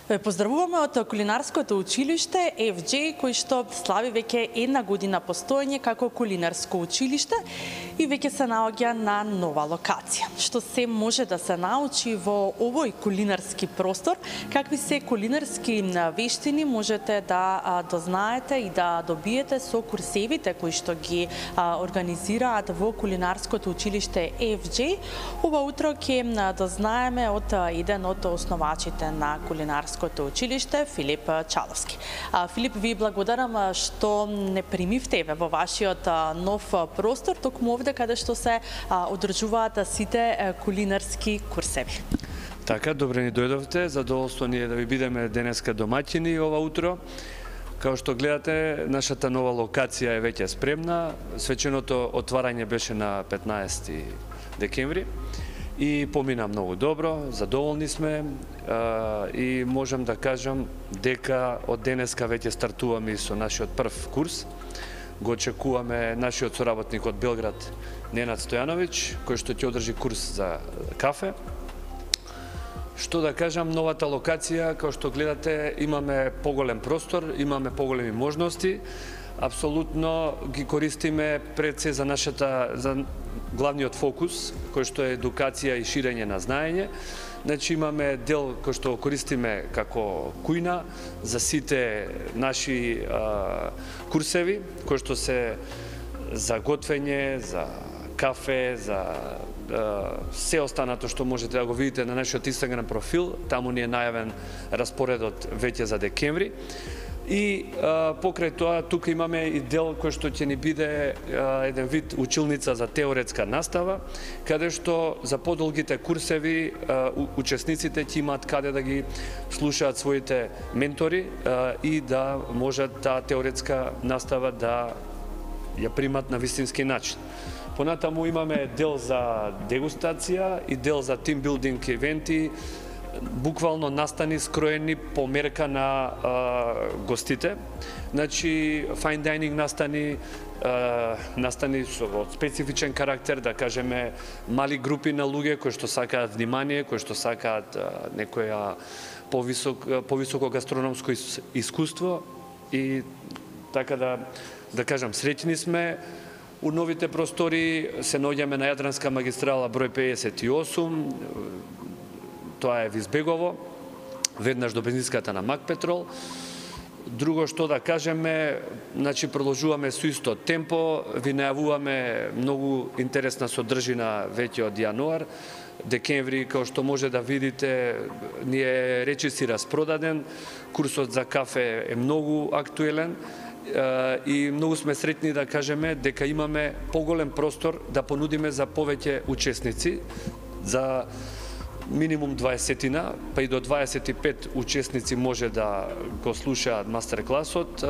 Ве поздравуваме од Кулинарското училиште FJ, кој што слави веќе една година постоење како кулинарско училиште и веќе се наоѓа на нова локација. Што се може да се научи во овој кулинарски простор, какви се кулинарски вештини можете да дознаете и да добиете со курсевите кои што ги организираат во Кулинарското училиште FJ. Ова утро ќе дознаеме од еден од основачите на Кулинарското училиште, Филип Чаловски. Филип, ви благодарам што не примивте во вашиот нов простор, токму овде каде што се одржуваат сите кулинарски курсеви. Така, добре ни дојдовте, задоволство ни е да ви бидеме денеска домаќини ова утро. Као што гледате, нашата нова локација е веќе спремна. Свеченото отварање беше на 15 декември. И помина многу добро, задоволни сме и можам да кажам дека од денеска веќе стартуваме со нашиот прв курс. Го очекуваме нашиот соработник од Белград, Ненад Стојановиќ, кој што ќе одржи курс за кафе. Што да кажам, новата локација, као што гледате, имаме поголем простор, имаме поголеми можности. Апсолутно ги користиме пред се за главниот фокус, кој што е едукација и ширење на знаење. Значи имаме дел кој што користиме како кујна за сите наши курсеви, кои што се за готвење, за кафе, за се останато што можете да го видите на нашиот Инстаграм профил. Таму ни е најавен распоредот веќе за декември. И покрај тоа, тука имаме и дел кој што ќе ни биде еден вид училница за теоретска настава, каде што за подолгите курсеви учесниците ќе имаат каде да ги слушаат своите ментори и да можат таа теоретска настава да ја примат на вистински начин. Понатаму имаме дел за дегустација и дел за тимбилдинг евенти, буквално настани скроени по мерка на гостите. Значи, fine dining настани со специфичен карактер, да кажеме, мали групи на луѓе кои што сакаат внимание, кои што сакаат некоја повисоко гастрономско искуство и така да кажам, среќни сме. У новите простори се наоѓаме на Јадранска магистрала број 58, тоа е Визбегово, веднаш до бензинската на Макпетрол. Друго што да кажеме, значи продолжуваме со исто темпо, ви најавуваме многу интересна содржина веќе од јануар. Декември, као што може да видите, ни е речиси распродаден, курсот за кафе е многу актуелен и многу сме среќни да кажеме дека имаме поголем простор да понудиме за повеќе учесници, за минимум 20-тина, па и до 25 учесници може да го слушаат мастер-класот,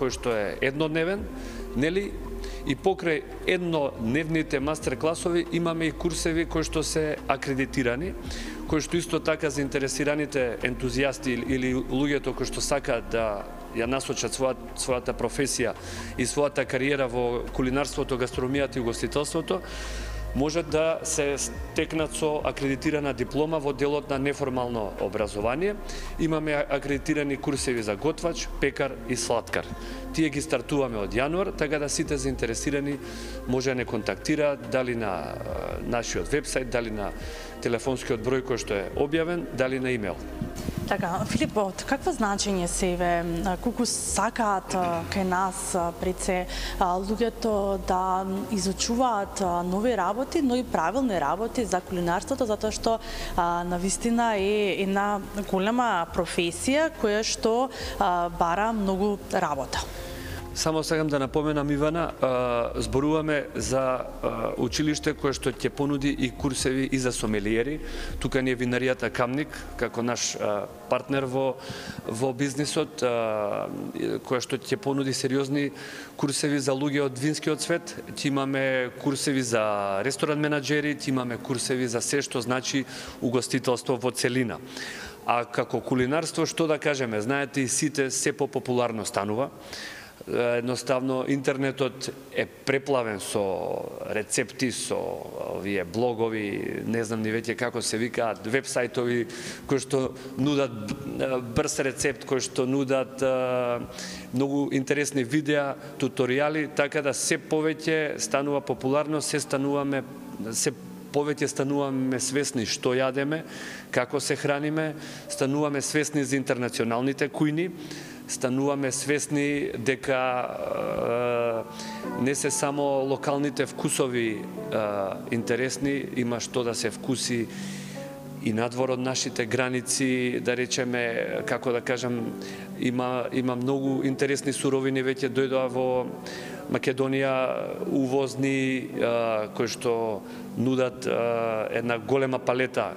кој што е еднодневен, нели? И покрај еднодневните мастер-класови имаме и курсеви кои што се акредитирани, кои што исто така заинтересираните ентузијасти или луѓето кои што сакаат да ја насочат својата професија и својата кариера во кулинарството, гастрономијата и угостителството, можат да се стекнат со акредитирана диплома во делот на неформално образование. Имаме акредитирани курсеви за готвач, пекар и сладкар. Тие ги стартуваме од јануар, така да сите заинтересирани може да не контактираат дали на нашиот вебсайт, дали на телефонскиот број кој што е објавен, дали на имейл. Така, Филип, од какво значење себе, колку сакаат кај нас пред се луѓето да изучуваат нови работи, но и правилни работи за кулинарството, затоа што навистина е една голема професија која што бара многу работа. Само сакам да напоменам, Ивана, зборуваме за училиште кое што ќе понуди и курсеви и за сомелиери. Тука ни е винаријата Камник, како наш партнер во бизнисот, која што ќе понуди сериозни курсеви за луѓе од винскиот свет. Ќе имаме курсеви за ресторан менаџери, ќе имаме курсеви за се што значи угостителство во целина. А како кулинарство, што да кажеме, знаете и сите се популарно станува. Едноставно интернетот е преплавен со рецепти, со овие блогови, не знам ни веќе како се викаат, вебсајтови кои што нудат брз рецепт, кои што нудат многу интересни видеа, туторијали, така да се повеќе станува популарно, се повеќе стануваме свесни што јадеме, како се храниме, стануваме свесни за интернационалните кујни, стануваме свесни дека не се само локалните вкусови интересни, има што да се вкуси и надвор од нашите граници, да речеме, како да кажам, има многу интересни суровини веќе дојдоа во Македонија, увозни, кои што нудат една голема палета,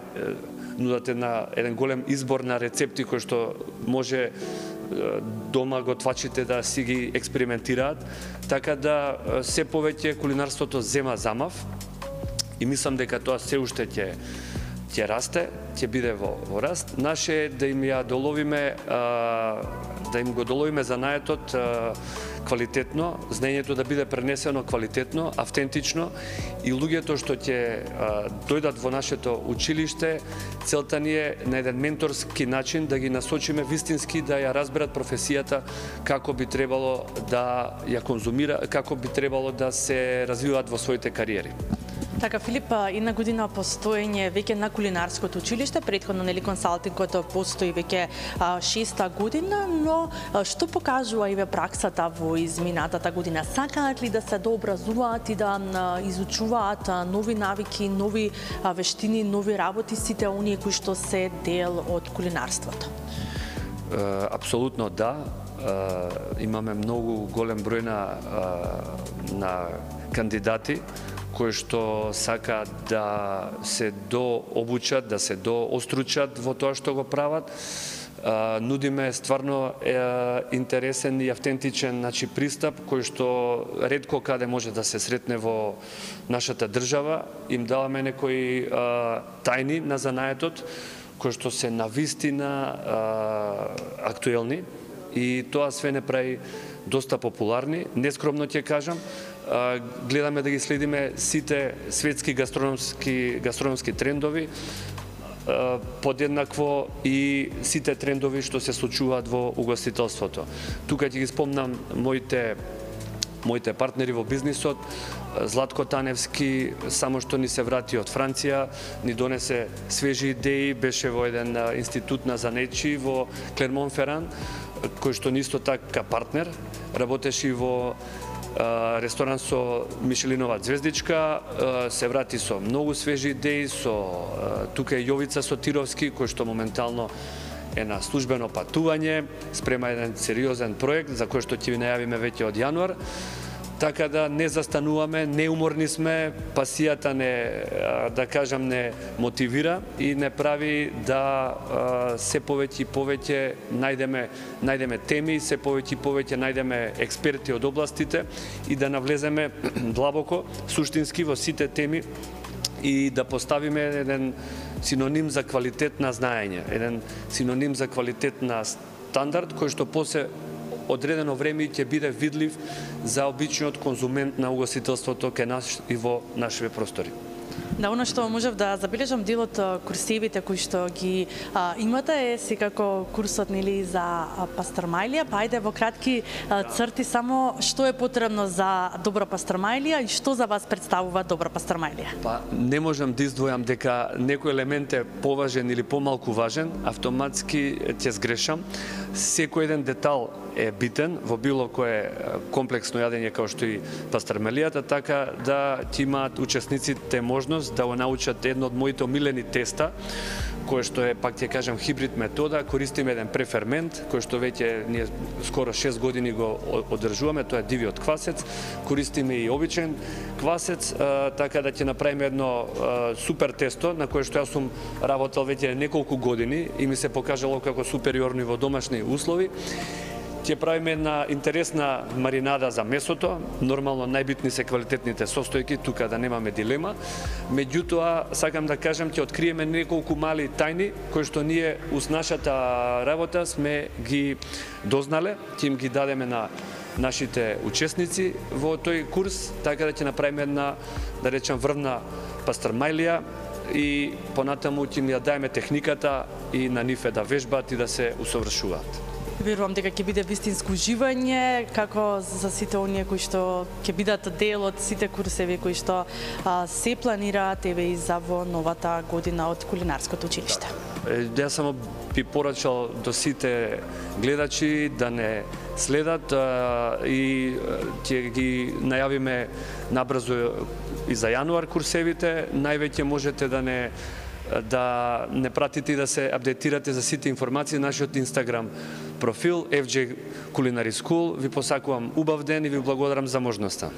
нудат еден голем избор на рецепти кои што може дома готвачите да си ги експериментираат, така да се повеќе кулинарството зема замав и мислам дека тоа се уште ќе расте, ќе биде во раст. Наше да им ја доловиме, да им го доловиме занаетот квалитетно, знаењето да биде пренесено квалитетно, автентично и луѓето што ќе дојдат во нашето училиште, целта ни е на еден менторски начин да ги насочиме вистински да ја разберат професијата, како би требало да ја конзумира, како би требало да се развиваат во своите кариери. Така, Филип, една година постоење веќе на кулинарското училиште, претходно нели консалтингот постои веќе 6-та година, но што покажува и праксата во изминатата година? Сакаат ли да се дообразуваат и да изучуваат нови навики, нови вештини, нови работи сите оние кои што се дел од кулинарството? Апсолутно да. Имаме многу голем број на кандидати кои што сакаат да се дообучат, да се доостручат во тоа што го прават. Нудиме стварно интересен и автентичен пристап кој што ретко каде може да се сретне во нашата држава. Им даваме некои тајни на занаетот кои што се навистина актуелни и тоа све не прави доста популарни. Нескромно ќе кажам, гледаме да ги следиме сите светски гастрономски трендови, подеднакво и сите трендови што се случуваат во угостителството. Тука ќе ги спомнам моите партнери во бизнисот. Златко Таневски само што ни се врати од Франција, ни донесе свежи идеи, беше во еден институт на занечи во Клермон-Феран, кој што ни исто така партнер, работеше и во ресторан со Мишелинова звездичка, се врати со многу свежи идеи, тука е Јовица Сотировски, кој што моментално е на службено патување, спрема еден сериозен проект за кој што ќе ви најавиме веќе од јануар. Така да не застануваме, неуморни сме, пасијата не мотивира и не прави да се повеќе и повеќе најдеме теми, се повеќе и повеќе најдеме експерти од областите и да навлеземе длабоко, суштински во сите теми и да поставиме еден синоним за квалитет на знаење, еден синоним за квалитет на стандард кој што после одредено време ќе биде видлив за обичниот конзумент на угостителството кај нас и во нашите простори. Да, оно што можев да забележам, дел од курсивите кои што ги имате е секако курсот нели за пастармајлија, па ајде во кратки црти само што е потребно за добра пастармајлија и што за вас представува добра пастармајлија? Па не можам да издвојам дека некој елемент е поважен или помалку важен, автоматски ќе сгрешам. Секој еден детал е битен во било кое комплексно јадење како што и пастармајлијата, така да ќе имаат учесниците можност да го научат едно од моите омилени теста, кое што е, пак ќе кажам, хибрид метода. Користиме еден префермент, кој што веќе ние скоро 6 години го одржуваме, тоа е дивиот квасец. Користиме и обичен квасец, така да ќе направиме едно супер тесто, на кое што јас сум работел веќе неколку години и ми се покажало како супериорни во домашни услови. Ќе правиме една интересна маринада за месото. Нормално најбитни се квалитетните состојки, тука да немаме дилема. Меѓутоа, сакам да кажам, ќе откриеме неколку мали тајни кои што ние уз нашата работа сме ги дознале, ќе им ги дадеме на нашите учесници во тој курс, така да ќе направиме една, да речем, врвна пастрмајлија и понатаму ќе ни ја даеме техниката и на нив да вежбаат и да се усовршуваат. Верувам дека ќе биде вистинско уживање, како за сите оние кои што ќе бидат дел од сите курсеви кои што се планираат еве и за во новата година од Кулинарското училиште. Јас само би порачал до сите гледачи да не следат и ќе ги најавиме набрзо и за јануар курсевите. Највеќе можете да не пратите и да се апдейтирате за сите информации на нашиот Инстаграм профил FJ Culinary School. Ви посакувам убав ден и ви благодарам за можноста.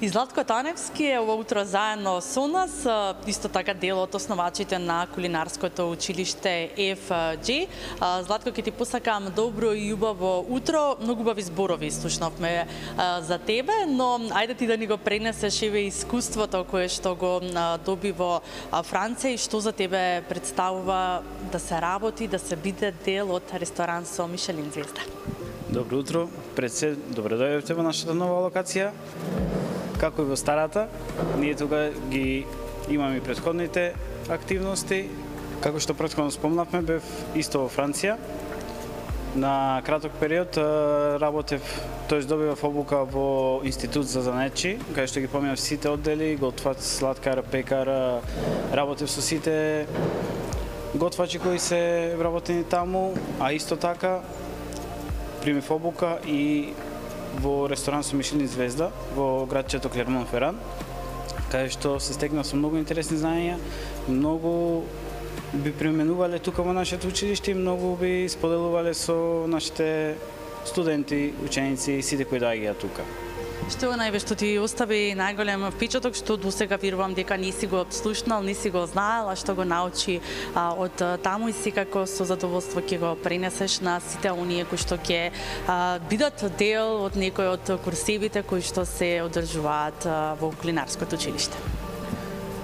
И Златко Таневски е ова утро заедно со нас, исто така дел од основачите на Кулинарското училиште FJ. Златко, ќе ти посакам добро и убаво утро. Многу убави зборови слушнавме за тебе, но ајде ти да ни го пренесеш еве искуството кое што го доби во Франција и што за тебе представува да се работи, да се биде дел од ресторан со Мишелин звезда. Добро утро, пред се добро дојдовте во нашата нова локација. Како и во старата, ние тука ги имаме и претходните активности. Како што претходно спомнавме, бев исто во Франција. На краток период работев, тоест добивав обука во Институт за занаетчи, каде што ги поминав сите оддели, готвач, сладкар, пекар, работев со сите готвачи кои се вработени таму, а исто така примив обука и во ресторан со Мишелин звезда во градчето Клермон-Феран, каде што се стекнав со многу интересни знаења, многу би применувале тука во нашето училиште и многу би споделувале со нашите студенти, ученици и сите кои доаѓаат тука. Што е најве што ти остави најголем впечаток, што досега верувам дека не си го слушнал, не си го знаел, а што го научи од таму и секако со задоволство ќе го пренесеш на сите оние кои што ќе бидат дел од некој од курсевите кои што се одржуваат во Кулинарското училиште?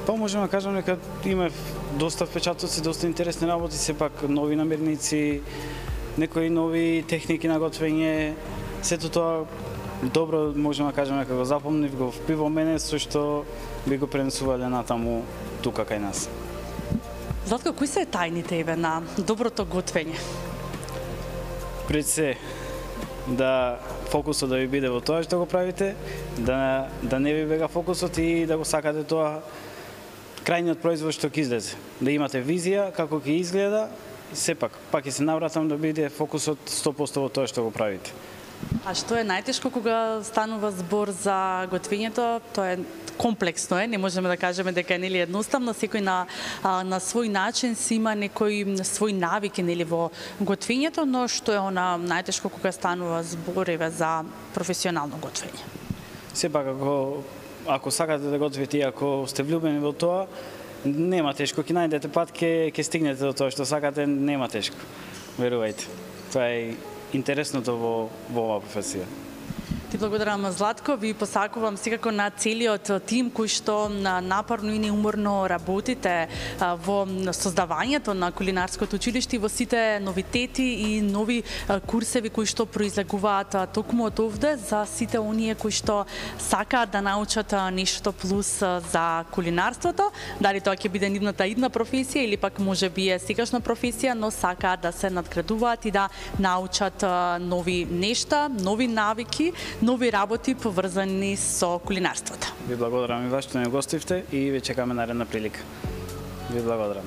Па можеме да кажам дека има доста впечатоци, доста интересни работи, сепак нови намирници, некои нови техники на готвење, сето тоа добро можеме да кажеме дека го запомнив, го впи во мене, со што би го пренесувале натаму тука кај нас. Златко, кои се тајните еве на доброто готвење? Пред се да фокусот да ви биде во тоа што го правите, да не ви бега фокусот и да го сакате тоа крајниот производ што ќе излезе. Да имате визија како ќе изгледа, сепак пак ќе се навратам да биде фокусот 100% во тоа што го правите. А што е најтешко кога станува збор за готвењето? Тоа е комплексно не можеме да кажеме дека е нели едноставно, секој на свој начин си има некои свои навики нели во готвењето, но што е она најтешко кога станува збор еве за професионално готвење? Сепак ако сакате да готвите и ако сте влюбени во тоа, нема тешко, ќе најдете пат, ќе стигнете до тоа што сакате, нема тешко. Верувајте. Тоа е интересното во оваа професија. Ти благодарам, Златко. Ви посакувам секако на целиот тим кој што напорно и неуморно работите во создавањето на Кулинарското училиште и во сите новитети и нови курсеви кои што произлегуваат токму од овде за сите оние кои што сакаат да научат нешто плюс за кулинарството. Дали тоа ќе биде нивната идна професија или пак може би е сегашна професија, но сакаат да се надградуваат и да научат нови нешта, нови навики, нови работи поврзани со кулинарството. Ви благодарам и вас што не гостивте и ве чекаме наредна прилика. Ви благодарам.